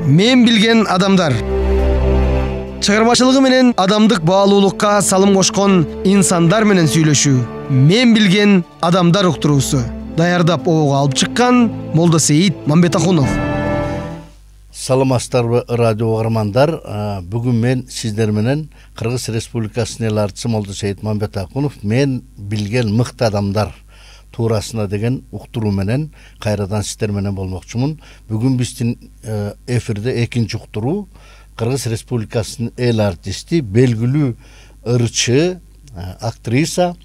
Мен билген адамдар. Чыгармачылыгы менен адамдык баалуулукка салым кошкон инсандар менен сүйлөшүү. Мен билген адамдар уктуруусу. Даярдап обого алып чыккан Молдосейит Мамбетахунов. Саламатсыздарбы радио угармандар. Бүгүн мен сиздер менен Кыргыз Республикасынын эл артчысы Молдосейит Мамбетахунов мен билген мыкты адамдар туурасында деген уктуруу менен кайрадан сиздер менен болмокчумун. Бүгүн биздин эфирде экинчи уктуруу Кыргыз Республикасынын эл артисти, белгилүү ырчы, актриса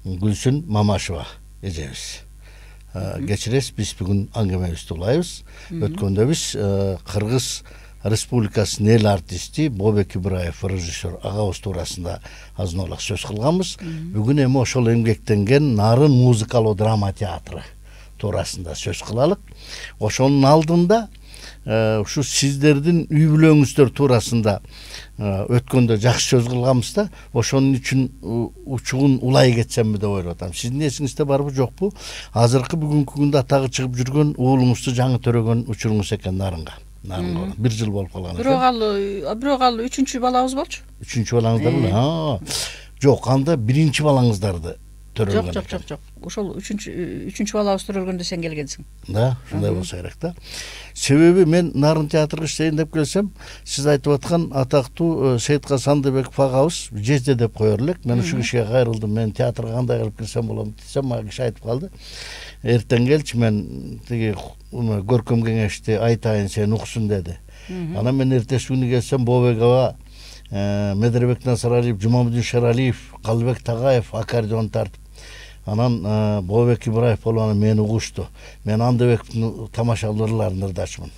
Гүлсүн Мамашева эжебиз. Кечиресиз, биз бүгүн аңгемебизди улайбыз. Өткөндө биз Кыргыз Республикасынын эл артисти Бообек Ибраев режиссер агабыз туурасында азын олак сөз кылганбыз. Бүгүн эми ошол эмгектенген Нарын музыкалуу драма театры туурасында сөз кылалык. Ошонун алдында ушу сиздердин үй бүлөңүздөр туурасында өткөндө жакшы сөз кылганбыз да, ошонун үчүн учугун улай кетсемби деп ойлоп атам. Сиздин эсиңизде барбы жокпу? Азыркы бүгүнкү күндө атагы чыгып жүргөн уулуңузду жаңы төрөгөн учуруңуз экен Нарынга. Бир жыл болуп калган. Бирок ал үчүнчү балабыз болчу. Үчүнчү балаңыздар беле? Жок, анда биринчи балаңыздарды төрөлгөн. Жок. Ошол үчүнчү балабыз төрөлгөндө сен келгенсиң. Да, ушундай болсо керек да. Себеби мен Нарын театрга иштейин деп келсем, сиз айтып аткан атактуу Сейитка Сандыбеков агабыз жезде деп коер элек. Мен ушул кишиге кайрылдым. Мен театрга кандай кылып кирсем болом десем, мага киши айтып калды. Эртең келчи, мен тиги көркөм кеңешти айтайын, сен уксун деди. Анан мен эртеси күнү келсем, Бообек аба, Медербек Насыралиев, Жумамудин Шералиев, Калбек Тагаев аккордеон тартып, анан Бообек Ибраев болуп мени угушту. Мен Андыбектин тамашалууларынын ырдашымын.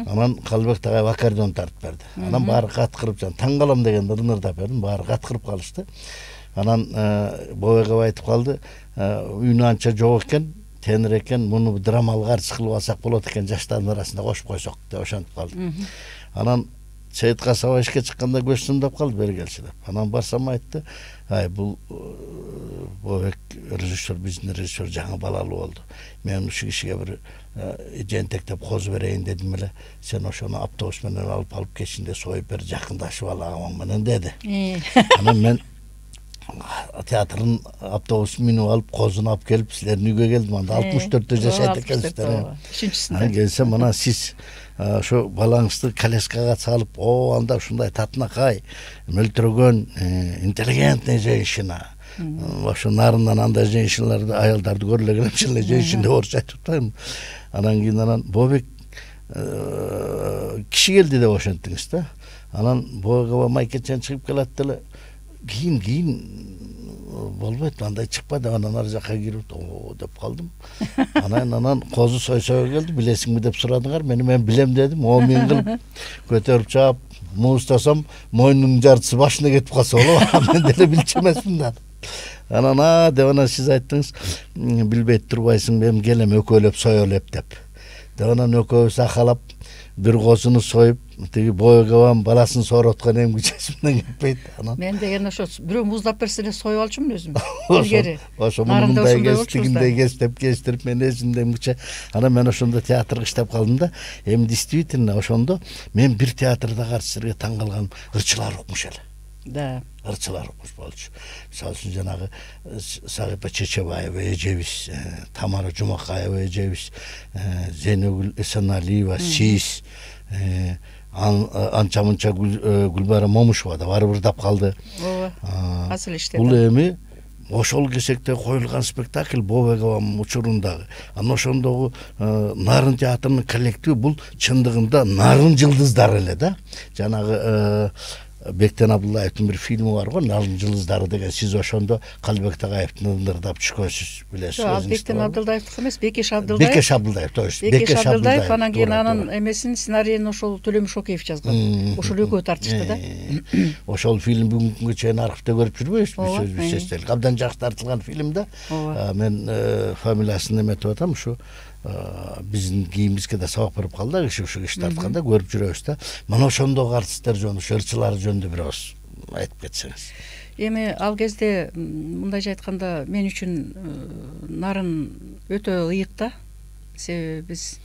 Анан Калбек Тагаев аккордеон тартып берди. Анан баары каткырып, таң калам дегенде ырдап бердим, баары каткырып калышты. Анан Бообек аба айтып калды, үйүнө анча жок экен, тенер экен, муну драмалык артист кылып алсак болот экен, жаштардын арасында кошуп койсок деп ошентип калды. Анан Сейитка саба ишке чыкканда көз сымдап калды, бери келчи деп. Анан барсам айтты, бул Бообек режиссер, биздин режиссер жаңы балалуу болду. Мен ушу кишиге бир жентектеп козу берейин дедим эле. Сен ошону автобус менен алып кетишинде союп бер, жакындашып ал агамаң менен деди. Анан мен театрдын автобусун минип алып, козуну алып келип силердин үйгө келдим. Анда 64-тө жашайт экенсиздер. Үчүнчүсүндө. Келсем, анан сиз ошо балаңызды коляскага салып, анда ушундай татынакай, мөлтүрөгөн, интеллигентная женщина. Ошо Нарындан андай женщиналарды, аялдарды көрүлгөн эмчиле женщина деп орусча айтып атпаймынбы. Анан кийин Бообек киши келди деп ошентиңиз да. Анан Бообек аба майкечен чыгып келат деле, кийин болбойт, андай чыкпа деп, анан ар жакка кирип деп калдым. Анан козу сойсого келди, билесиңби деп сурадыңар. Мен билем дедим. О мен кылып көтөрүп чаап муустасам, мойнунун жартысы башына кетип калса болобу? Мен деле билчү эмесмин да. Анан деп сиз айттыңыз, билбейт турбайсың, мен келем өкөлөп соёлеп деп. Анан экөөбүз акалап бир козуну союп, тиги Бообек абам баласын соороткон эмгичесимден кетпейт. Мен деген ошо бирөө муздап берсе эле союп алчумун өзүм. Илгери. Ошо мындай кестигиндей кестирип мен эсимде эмгиче. Анан мен ошондо театрга иштеп калдым да. Эми действительно ошондо мен бир театрдагы артисттерге таң калган, ырчылар укмуш эле. Да. Ырчылар укмуш болчу. Мисалы үчүн жанагы Сагипа Чечебаева эжебиз, Тамара Жумакаева эжебиз, Зейнегүл Эсеналиева, Сиз, анча-мынча Гүлбайрам Момушева да барып ырдап калды. Ооба. Асыл иштеди. Бул эми ошол кесекте коюлган спектакль Бообек абам учурундагы. Анан ошондогу Нарын театрынын коллективи бул чындыгында Нарын жылдыздары эле да. Жанагы Бектен Абдуллаевдин бир фильми бар го, Нарын жылдыздары деген. Сиз ошондо Калбек Тагаевдин ырдап чыккансыз, билесиз. Бектен Абдуллаевдики эмес, Бекеш Абдулдаев. Бекеш Абдулдаев, точно. Бекеш Абдулдаев, анан кийин анын эмесин сценарийин ошол Төлөмүш Шокеев жазган. Ошол экөө тартышты да. Ошол фильм бүгүнкү күнгө чейин архивде көрүп жүрбөйбүзбү? Биз эстелик. Абдан жакшы тартылган фильм да. Мен фамилиясын эметип атам, ушу биздин кийимибизге да сабак берип калды, ушу киши тартканда көрүп жүрөбүз да. Мына ошондогу артисттер жөнүндө, ырчылар жөнүндө бир ооз айтып кетсеңиз. Эми ал кезде мындайча айтканда мен үчүн Нарын өтө ыйык да. Себеби биз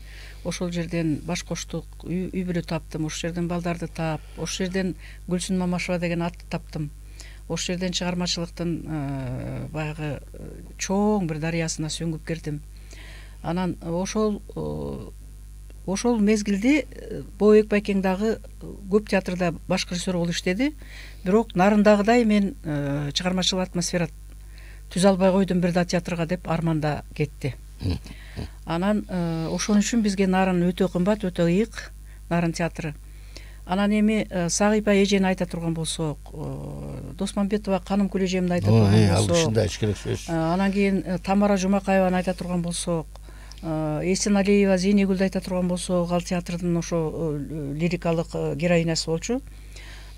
ошол жерден баш коштук, үй бүлө таптым, ошол жерден балдарды таап, ошол жерден Гүлсүн Мамашева деген атты таптым. Ошол жерден чыгармачылыктын баягы чоң бир дарыясына сүңгүп кирдим. Анан ошол мезгилде Бообек Байкең дагы көп театрда баш режиссер болуп иштеди. Бирок нарындагыдай мен чыгармачыл атмосфера түзө албай койдум бир да театрга деп арманда кетти. Анан ошон үчүн бизге нарын өтө кымбат, өтө ыйык, Нарын театры. Анан эми Сагыйпа эжени айта турган болсок, Досмамбетова Каным Күл эжемди айта турган болсок, ал кишини да эч керек сөз. Анан кийин Тамара Жумакаеваны айта турган болсок, Эсеналиева Зейнегүлдү айта турган болсок, ал театрдын ошо лирикалык героинасы болчу.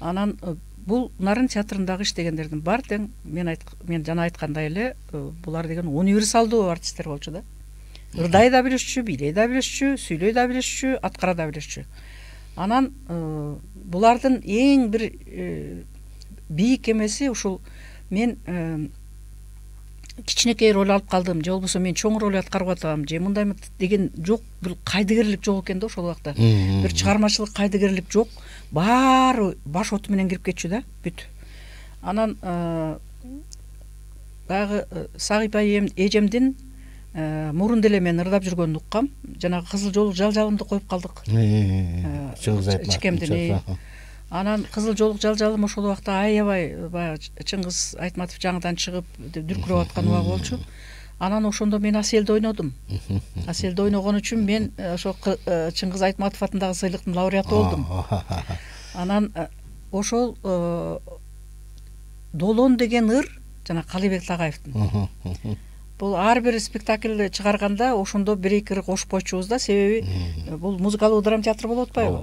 Анан бул Нарын театрындагы иштегендердин баары тең мен жана айткандай эле булар деген универсалдуу артисттер болчу да. Ырдай да билишчү, бийлей да билишчү, сүйлөй да билишчү, аткара да билишчү. Анан булардын эң бир бийик эмеси ушул мен кичинекей роль алып калдым, же болбосо мен чоң роль аткарып атам, же мындай деген жок, бир кайдыгерлик жок экен да ошол убакта. Бир чыгармачылык кайдыгерлик жок. Баары баш оту менен кирип кетчү да, бүт. Анан баягы Сагыйпа эжемдин мурун деле мен ырдап жүргөнүн уккам. Жанагы Кызыл жолук жалжалымды коюп калдык. Чыңгыз Айтматов. Чикемдин. Анан Кызыл жолук жалжалым ошол убакта аябай баягы Чыңгыз Айтматов жаңыдан чыгып дүркүрөп аткан убагы болчу. Анан ошондо мен Аселди ойнодум. Аселди ойногон үчүн мен ошо Чыңгыз Айтматов атындагы сыйлыктын лауреаты болдум. Анан ошол Долон деген ыр жана Калыбек Тагаевдин. Бул ар бир спектакль чыгарганда ошондо бир-эки ыр кошпойчубуз да, себеби бул музыкалдуу драма театр болуп атпайбы?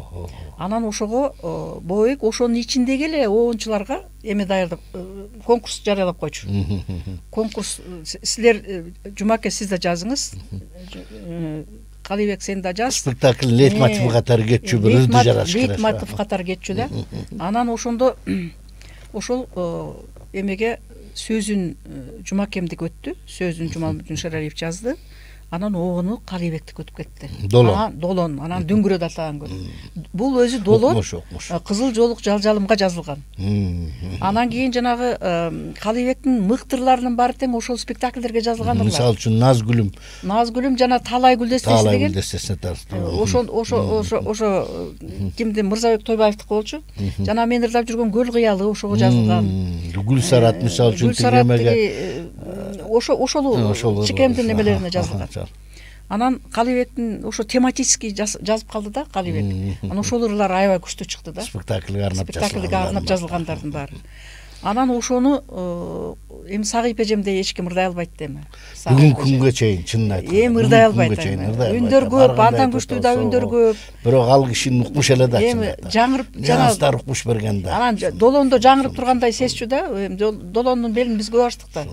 Анан ошого Бообек ошонун ичиндеги эле оончуларга эме даярдап конкурс жарыялап койчу. Конкурс силер Жумаке сиз да жазыңыз. Калыбек сен да жаз. Спектакль лейтмотив катары кетчү, бир ырды жараш керек. Лейтмотив катары кетчү да. Анан ошондо ошол эмеге сөзүн Жумакемдик өттү, сөзүн Жумалмудин Шералиев жазды. Анан огону Калыбектик өтүп кетти. Долон, анан Дүңгүрөт атаган көрү. Бул өзү Долон Кызыл жолук жалжалымга жазылган. Анан кийин жанагы Калыбектин мыктырларынын баары тең ошол спектакльдерге жазылгандыр. Мисалы үчүн Назгүлүм жана Таалай Гүлдестеси деген. Ошо кимдин Мырзабек Тойбаевдики болчу. Жана мен ырдап жүргөн Көл кыялы ошого жазылган. Гүлсарат мисалы үчүн тигемеге ошол Чикемдин эмелерине жазылган. Анан Калыбектин ошо тематический жазып калды да Калыбек. Анан ошол ырлар аябай күчтүү чыкты да. Спектакльге арнап жазылгандардын баары. Анан ошону эми Сагыйпа эжемде эч ким ырдай албайт эми. Бүгүнкү күнгө чейин чынын айтканда. Эми ырдай албайт. Үндөр көп, андан күчтүү да үндөр көп. Бирок ал кишинин укмуш эле да. Эми жаңырып жана укмуш берген да. Анан Долондо жаңырып тургандай сезчү да. Долондун белин биз көп ачтык да.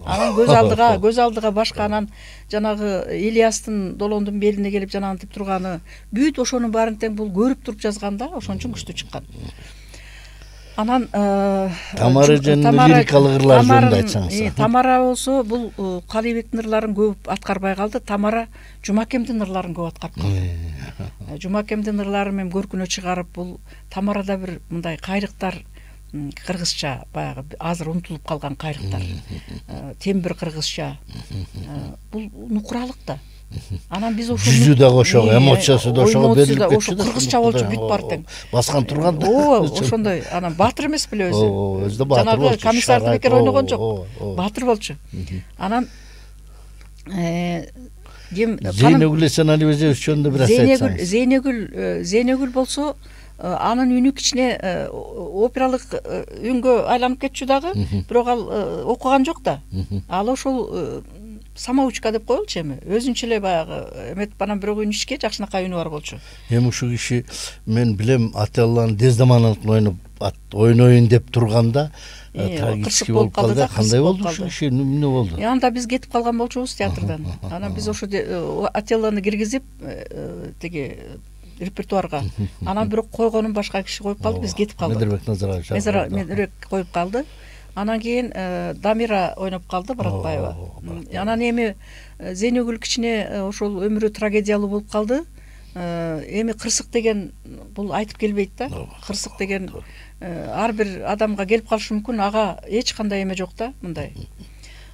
Анан көз алдыга башка анан жанагы Ильястын Долондун белине келип жанагынтип турганы бүт ошонун баарын тең бул көрүп туруп жазган да, ошон үчүн күчтүү чыккан. Анан Тамара эженин лирикалык ырлары жөнүндө айтсаңыз. Тамара болсо бул Калыбектин ырларын көп аткарбай калды. Тамара Жумакемдин ырларын көп аткарып калды. Жумакемдин ырларын мен көркүнө чыгарып, бул Тамарада бир мындай кайрыктар, кыргызча баягы азыр унутулуп калган кайрыктар. Тембир кыргызча. Бул нукуралык да. Анан биз ошо жүзү да ошого, эмоциясы да ошого берилип кетти. Ошо кыргызча болчу бүт баары тең. Баскан турган. Ошондой. Анан баатыр эмес беле өзү. Өзү да баатыр болчу. Жанагы комиссарды бекер ойногон жок. Баатыр болчу. Анан Зейнегүл Эсеналиева жөнүндө бир айтсаңыз. Зейнегүл болсо анын үнү кичине опералык үнгө айланып кетчү дагы, бирок ал окуган жок да. Ал ошол самоучка деп коелучу эми. Өзүнчө эле баягы эметип анан бирок үнүшке жакшынакай үнү бар болчу. Эми ушул киши мен билем Ателланын Дездеманын ойноюн деп турганда трагический болуп калды. Кандай болду ушул киши? Эмне болду? Анда биз кетип калган болчубуз театрдан. Анан биз ошо Ателланы киргизип тиги репертуарга. Анан бирок койгонун башка киши коюп калды, биз кетип калдык. Медербек Назарбаев. Медербек коюп калды. Анан кийин Дамира ойноп калды, Баратбаева. Анан эми Зейнегүл кичине ошол өмүрү трагедиялуу болуп калды. эми кырсык деген бул айтып келбейт да. Кырсык деген ар бир адамга келип калышы мүмкүн, ага эч кандай эме жок да, мындай.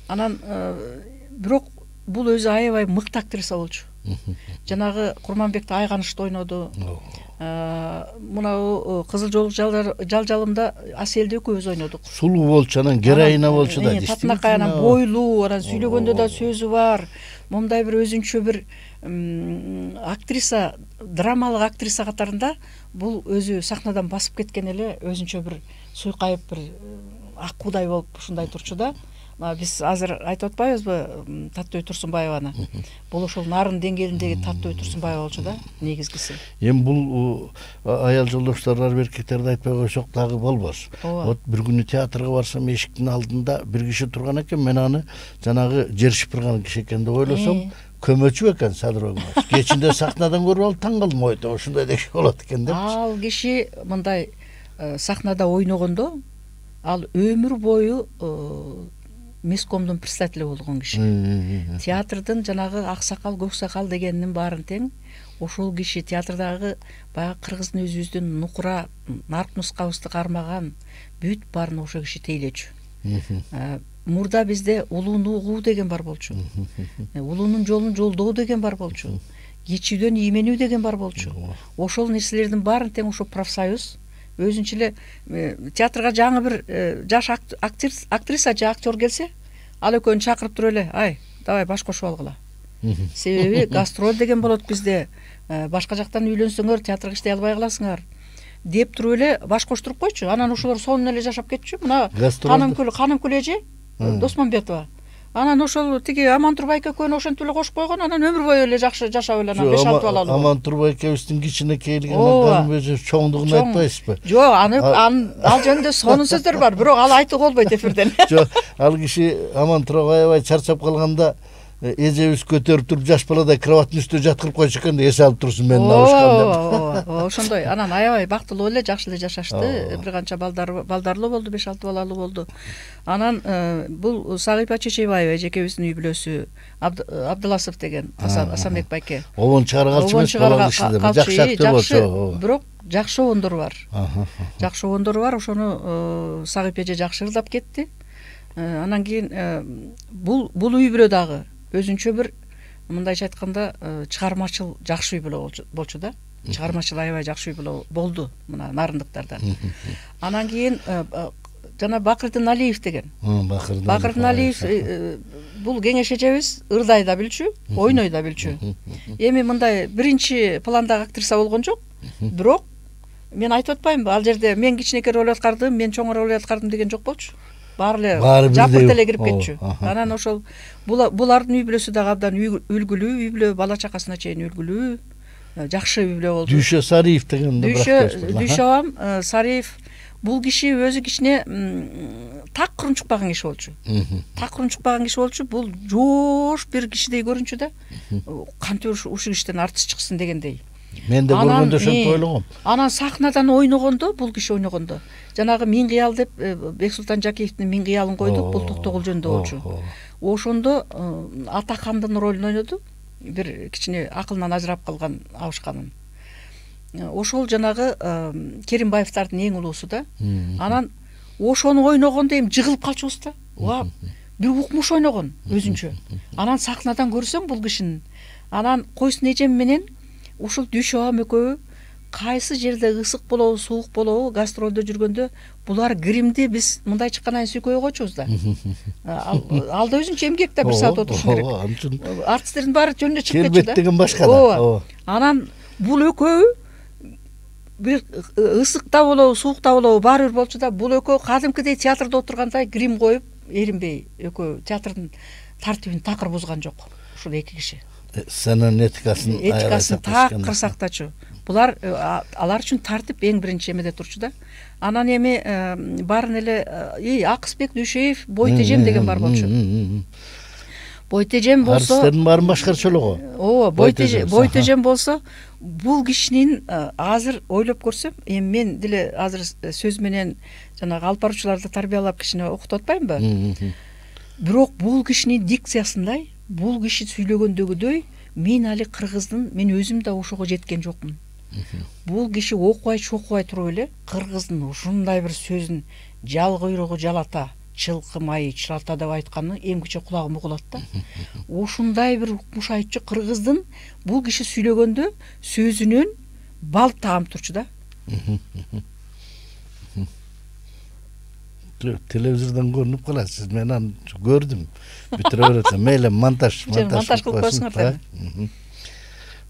Анан бирок бул өзү аябай мыкты актриса болчу. Жанагы Курманбекти Айганышты ойноду. Мынау Кызыл жол жалжалымда Аселди экөөбүз ойнодук. Сулуу болчу, анан героиня болчу да. Татынакай анан бойлуу, анан сүйлөгөндө да сөзү бар. Момундай бир өзүнчө бир актриса, драмалык актриса катарында бул өзү сахнадан басып кеткен эле өзүнчө бир суйкайып бир ак куудай болуп ушундай турчу да. Биз азыр айтып атпайбызбы Таттыбек Турсунбаеваны? Бул ошол нарын деңгээлиндеги Таттыбек Турсунбаева болчу да, негизгиси. Эми бул аял жолдоштор эркектерди айтпай койсок дагы болбос. Вот бир күнү театрга барсам, эшиктин алдында бир киши турган экен, мен аны жанагы жер шыпырган киши экен деп ойлосом, көмөчү экен Садыр Огмаш. Кечинде сахнадан көрүп алып таң калдым, ойто ушундай киши болот экен деп. Ал киши мындай сахнада ойногондо ал өмүр бою Мескомдун председатели болгон киши. Театрдын жанагы аксакал, көксакал дегенинин баарын тең ошол киши театрдагы баягы кыргыздын өзүбүздүн нукура нарк нускабызды кармаган бүт баарын ошол киши тейлечү. Мурда бизде улууну угуу деген бар болчу. Улуунун жолун жолдоо деген бар болчу. Кичүүдөн ийменүү деген бар болчу. Ошол нерселердин баарын тең ошо профсоюз өзүнчө эле театрга жаңы бир жаш актриса же актер келсе, ал экөөнү чакырып туруп эле, ай, давай баш кошуп алгыла. Себеби гастроль деген болот бизде. Башка жактан үйлөнсөңөр, театрга иштей албай каласыңар деп туруп эле баш коштуруп койчу. Анан ошолор сонун эле жашап кетчү. Мына Канымкүл эже Досмамбетова. Анан ошол тиги Аман Турбайке экөөнү ошентип эле кошуп койгон, анан өмүр бою эле жакшы жашап эле анан 5-6 балалуу. Аман Турбайкебиздин кичинекейлигинен өзү чоңдугун айтпайсызбы? Жок, ал жөнүндө сонун сөздөр бар, бирок ал айтууга болбойт эфирден. Жок, ал киши Аман Турбай аябай чарчап калганда эжебиз көтөрүп туруп жаш баладай кроваттын үстүнө жаткырып койчу экен, эс алып турсун менин алышкан деп. Ошондой. Анан аябай бактылуу эле, жакшы эле жашашты. Бир канча балдарлуу болду, 5-6 балалуу болду. Анан бул Сагыйпа Чечебаева эжекебиздин үй бүлөсү, Абдыласов деген Асанбек байке. Обон чыгаргалчы эмес болду, жакшы актер болчу. Бирок жакшы обондору бар. Жакшы обондору бар, ошону Сагыйп эже жакшы ырдап кетти. Анан кийин бул үй бүлө дагы өзүнчө бир мындайча айтканда чыгармачыл жакшы үй бүлө болчу да. Чыгармачыл аябай жакшы үй бүлө болду мына нарындыктардан. Анан кийин жана Бакырдын Алиев деген. Бакырдын Алиев бул кеңеш эжебиз ырдай да билчү, ойной да билчү. Эми мындай биринчи пландагы актриса болгон жок, бирок мен айтып атпаймынбы, ал жерде мен кичинекей роль аткардым, мен чоң роль аткардым деген жок болчу. Баары эле жапырт эле кирип кетчү. Анан ошол булардын үй бүлөсү дагы абдан үлгүлүү, үй бүлө бала чакасына чейин үлгүлүү, жакшы үй бүлө болду. Дүйшө Сариев деген Дүйшө абам Сариев бул киши өзү кичине так курунчукпаган киши болчу. Так курунчукпаган киши болчу. Бул жоош бир кишидей көрүнчү да. Кантип ушул кишиден артист чыксын дегендей. Мен да көргөндө ошентип ойлогом. Анан сахнадан ойногондо, бул киши ойногондо, жанагы Миң кыял деп Бексултан Жакиевдин Миң кыялын койдук, бул Токтогул жөнүндө болчу. Ошондо Атахандын ролун ойноду. Бир кичине акылынан ажырап калган абышканын. Ошол жанагы Керимбаевдардын эң улуусу да. Анан ошону ойногондо эми жыгылып калчубуз да. Бир укмуш ойногон өзүнчө. Анан сахнадан көрсөм бул кишинин. Анан койсун эжем менен ушул Дүйшө абам экөө кайсы жерде ысык болобу, суук болобу, гастролдо жүргөндө булар гримди биз мындай чыккандан кийин сүйкөй койчубуз да. Ал да өзүнчө эмгек да, 1 саат отуруш керек. Артисттердин баары жөнүнө чыгып кетчү да. Келбет деген башка да. Анан бул экөө бир ысыкта болобу, суукта болобу баары бир болчу да. Бул экөө кадимкидей театрда отургандай грим коюп, эринбей экөө театрдын тартибин такыр бузган жок. Ушул эки киши. Сенин этикасын такыр сактачу. Булар алар үчүн тартип эң биринчи эмеде турчу да. Анан эми баарын эле Акысбек Дүйшөев Бойтежем деген бар болчу. Бойтежем болсо артисттердин баарын башкарчулугу. Ооба, Бойтежем болсо бул кишинин азыр ойлоп көрсөм, эми мен деле азыр сөз менен жанагы алып баруучуларды тарбиялап кичине окутуп атпаймынбы? Бирок бул кишинин дикциясындай, бул киши сүйлөгөндөгүдөй мен али кыргыздын, мен өзүм да ошого жеткен жокмун. Бул киши окубай чокубай туруп эле кыргыздын ушундай бир сөзүн жал куйругу жалата, чылкы майы чылата деп айтканы эмгиче кулагым угулат да. Ушундай бир укмуш айтчу кыргыздын бул киши сүйлөгөндө сөзүнөн бал таам турчу да. Телевизордон көрүнүп каласыз, мен аны көрдүм. Бүтүрө берет. Мейле монтаж кылып койсуңар.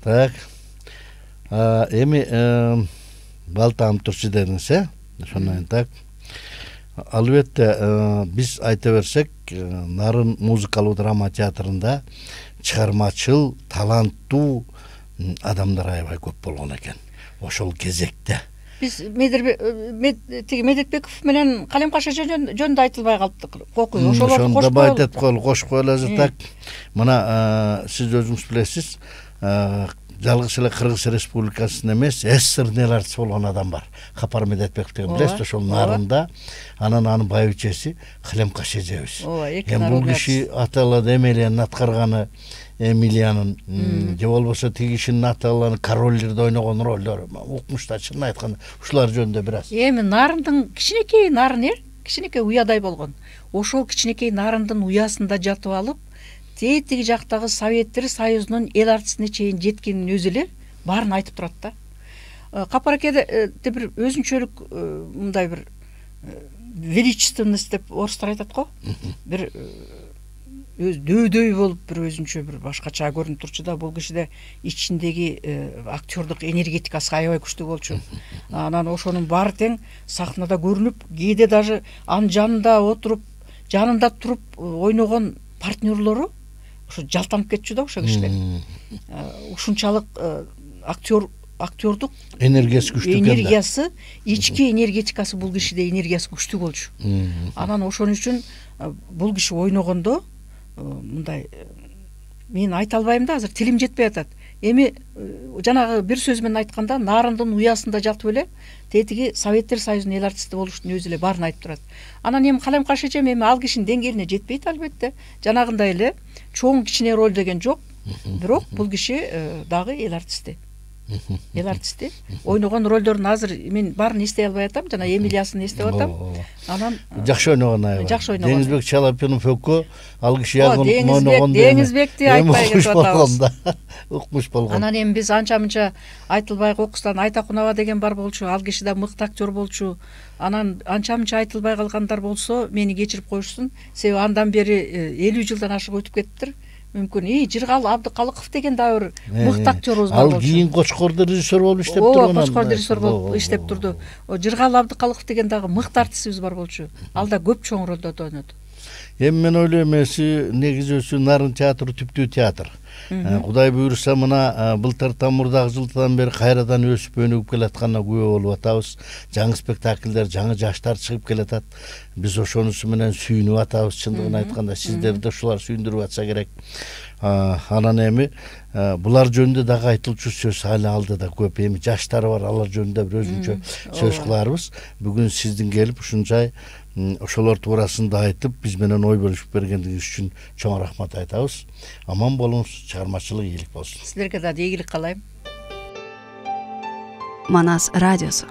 Так. Эми бал таам турчу дедиңиз, ошондон так. Албетте биз айта берсек, Нарын музыкалуу драма театрында чыгармачыл, таланттуу адамдар аябай көп болгон экен. Ошол кезекте. Биз Медетбеков менен Калем Каша жөнүндө айтылбай калдык. Кокуй, ошолорду кошуп коелу. Кошуп коелу так. Мына сиз өзүңүз билесиз, жалгыз эле Кыргыз Республикасынын эмес, СССРдин эл артисти болгон адам бар. Капар Медетбеков деген билесиз, ошол Нарында, анан анын байбичеси Калем Каша эжебиз. Эми бул киши аталады Эмилиянын аткарганы, Эмилиянын же болбосо тиги кишинин аталганы королдерде ойногон ролдору, укмушта чынын айтканда ушулар жөнүндө бир аз. Эми Нарындын кичинекей нарын кичинекей уядай болгон. Ошол кичинекей Нарындын уясында жатып алып, тетиги жактагы Советтер Союзунун эл артистине чейин жеткенин өзү эле баарын айтып турат да. Капар акеде бир өзүнчөлүк мындай бир величественность деп орустар айтат го. Бир өз дөйдөй болуп бир өзүнчө бир башкача көрүнүп турчу да. Бул кишиде ичиндеги актёрдук энергетикасы аябай күчтүү болчу. Анан ошонун баары тең сахнада көрүнүп, кээде даже анын жанында отуруп, жанында туруп ойногон партнерлору ошо жалтанып кетчү да ошол кишилер. Ушунчалык актёрдук энергиясы күчтүү экен. Энергиясы, ички энергетикасы бул кишиде энергиясы күчтүү болчу. Анан ошон үчүн бул киши ойногондо мындай мен айта албайм да, азыр тилим жетпей атат. Эми жанагы бир сөз менен айтканда, Нарындын уясында жатып эле тетиги Советтер Союзунун эл артисти болуштун өзү эле баарын айтып турат. Анан эми Калем Каша эжем эми ал кишинин деңгээлине жетпейт албетте. Жанагындай эле чоң кичине роль деген жок. Бирок бул киши дагы эл артисти. Эл артисти. Ойногон ролдорун азыр мен баарын эстей албай атам. Жана Эмилиясын эстеп атам. Анан жакшы ойногон аябай. Жакшы ойногон. Деңизбек Чалапинов өкө ал киши ойногон. Деңизбекти айтпай кетип атабыз. Укмуш болгон. Анан эми биз анча-мынча айтылбай кокустан Айтакунаба деген бар болчу. Ал киши да мыкты актер болчу. Анан анча-мынча айтылбай калгандар болсо, мени кечирип коюшсун. Себеби андан бери 50 жылдан ашык өтүп кеттир. Мүмкүн Жыргал Абдыкалыков деген да бир мыкты актерубуз бар болчу. Ал кийин Кочкордо режиссер болуп иштеп турган. Кочкордо режиссер болуп иштеп турду. Жыргал Абдыкалыков деген дагы мыкты артистибиз бар болчу. Ал да көп чоң ролдордо ойноду. Эми мен ойлойм, негизүүсү Нарын театры түптүү театр. Кудай буйруса мына былтыр мурдагы жылдан бери кайрадан өсүп өнүгүп келатканына күбө болуп атабыз. Жаңы спектакльдер, жаңы жаштар чыгып келатат. Биз ошонусу менен сүйүнүп атабыз. Чындыгын айтканда, сиздерди ушулар сүйүндүрүп атса керек. Анан эми булар жөнүндө дагы айтылчу сөз али алдыда көп. Эми жаштар бар, алар жөнүндө бир өзүнчө сөз кыларбыз. Бүгүн сиздин келип ушунчай ошолор туурасында айтып, биз менен ой бөлүшүп бергендиңиз үчүн чоң рахмат айтабыз. Аман болуңуз, чыгармачылык ийгилик болсун. Сиздерге да ийгилик каалайм. Манас радиосу.